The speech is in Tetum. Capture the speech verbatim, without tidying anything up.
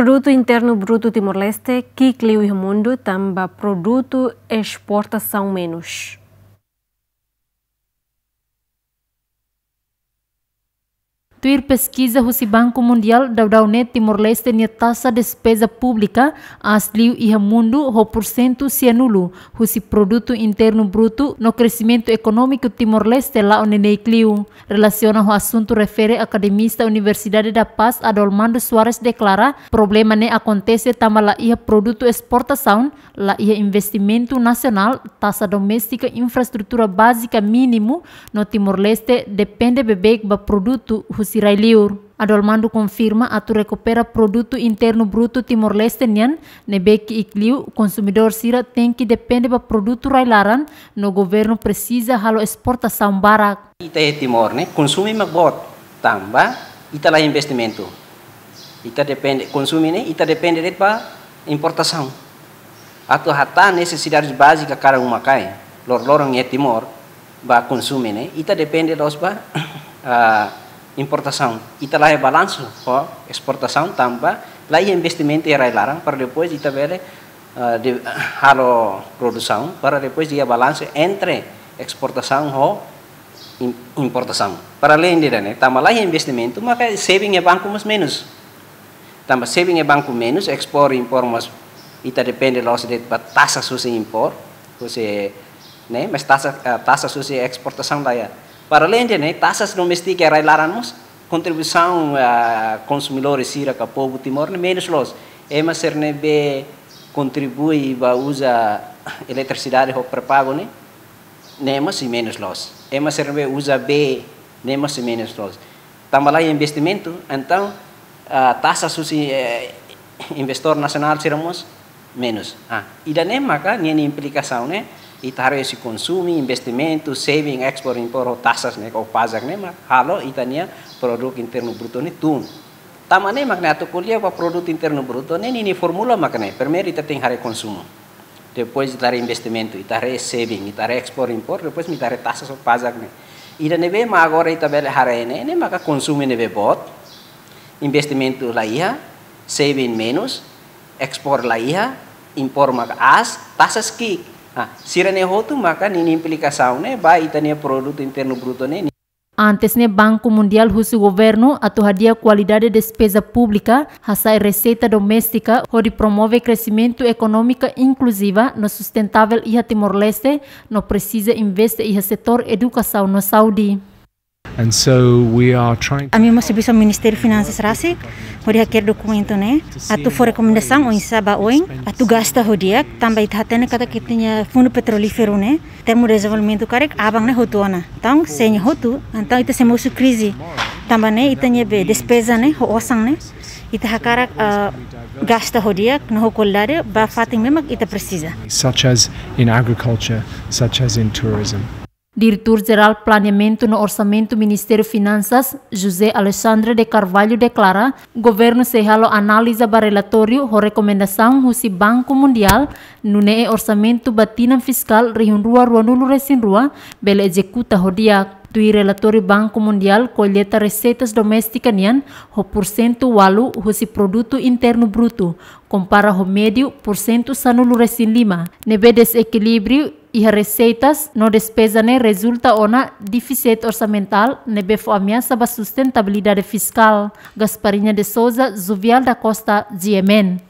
Produtu Internu Brutu Timor-Leste ki'ik liu iha mundu, tanba produtu esportasaun menus. Tuir peskiza husi Banku Mundiál, daudaun ne'e Timor-Leste nia taxa despeza públika aas liu iha mundu ho pursentu sianulu, husi Produtu Internu Brutu no kresimentu ekonómiku Timor-Leste la'o neineik liu. Relasiona ho asuntu refere, akademista Universidade da Paz, Adolmando Soares, deklara problema ne'e akontese tanba la iha produtu esportasaun, la iha investimentu nasionál, taxa doméstika, infraestrutura bázika mínimu, no Timor-Leste depende beibeik ba produtu husi rai-liur. Adolmando konfirma atu rekupera Produtu Internu Brutu Timor-Leste nian ne'ebé ki'ik liu, konsumidór sira tenke depende ba produtu rai-laran, no governu presiza halo esportasaun barak. Ita iha Timor ne'e, konsumu mak boot, tanba ita la investimentu. Ita depende, konsumu ne'e, ita depende de'it ba importasaun. Atu hatán nesesidade bázika kada uma-kain, loroloron iha Timor, ba konsumu ne'e, ita depende loos ba, ah, importasaun. Ita la iha balansu ho esportasaun tanba la iha investimentu iha rai-laran para depois ita bele, ah, de, halo produsaun, para depois iha balansu entre esportasaun ho im-, importasaun. Para além de ne'e, tanba la iha investimentu, maka saving iha banku mós menus. Tanba saving iha banku menus, ekspor, impor mós ita depende loos de'it ba taxa husi impor, husi, ne'e, mas taxa, eh, taxa husi esportasaun la iha. Para além de ne'e, taxa doméstika rai-laran mós, kontribuisaun, ah, konsumidór sira ka povu Timor ne'e menus loos. Ema sira ne'ebé kontribui ba uza eletrisidade ho pré-pagu ne'e, ne'e mós sei menus loos. Ema sira ne'ebé uza bee, ne'e mós sei menus loos. Tanba la iha investimentu, entaun, ah, taxa husi, eh, investidór nasionál sira mós menus. Ah, ida-ne'e maka ninia implikasaun ne'e, ita haree husi konsumu, investimentu, saving, ekspor, impor, ho taxas ne'e, ho pajak ne'e, mak halo ita-nia Produtu Internu Brutu ne'e tun. Tanba ne'e mak ne'e atu ko'alia ba Produtu Internu Brutu ne'e, ninia fórmula mak ne'e. Primeiru ita tenke haree konsumu. Depois ita haree investimentu, ita haree saving, ita haree ekspor, impor, depois ita haree taxas ho pajak ne'e. Ida ne'ebé mak agora ita bele haree ne'e, ne'e maka konsumu ne'ebé boot, investimentu la iha, saving menus, ekspor la iha, impor maka aas, taxas ki'ik. Ah, sira-ne'e hotu maka ninia implikasaun ne'e ba ita-nia Produtu Internu Brutu ne'e. Antes ne'e, Banku Mundiál husu governu atu hadi'a kualidade despeza públika, hasa'e reseita doméstika, hodi promove kresimentu ekonómika inkluziva no sustentável iha Timor-Leste, no presiza investe iha setór edukasaun no saúde. And so we are trying to... Ami mós servisu Ministériu Finansas rasik, hodi hakerek dokumentu ne'e, atu fó rekomendasaun oinsá ba oin, atu gasta ho di'ak, tanba ita hatene katak ita-nia Fundu Petrolíferu ne'e, termu dezenvolvimentu karik aban ne'e hotu ona. Entaun, se nia hotu, entaun ita sei mosu krize. Tanba ne'e ita-nia be despeza ne'e, ho osan ne'e, ita hakarak, ah, gasta ho di'ak, no ho kualidade, ba fatin ne'ebé mak ita presiza. Such as in agriculture, such as in tourism. Diretór Jerál Planeamentu no Orsamentu Ministériu Finansas, José Alexandre de Carvalho, deklara, governu sei halo análiza ba relatóriu ho rekomendasaun husi Banku Mundiál, nune'e orsamentu ba tinan fiskál rihun rua ruanulu-resin-rua bele ezekuta ho di'ak. Tuir relatóriu Banku Mundiál, kolleta reseitas doméstika nian ho pursentu ualu husi Produtu Internu Brutu, kompara ho médiu pursentu sanulu-resin-lima, ne'ebé dezekilíbriu iha reseitas no despeza ne'e rezulta ona défisit orsamentál ne'ebé fó ameasa ba sustentabilidade fiskál. Gasparinha de Sousa, Juvial da Costa, G M N.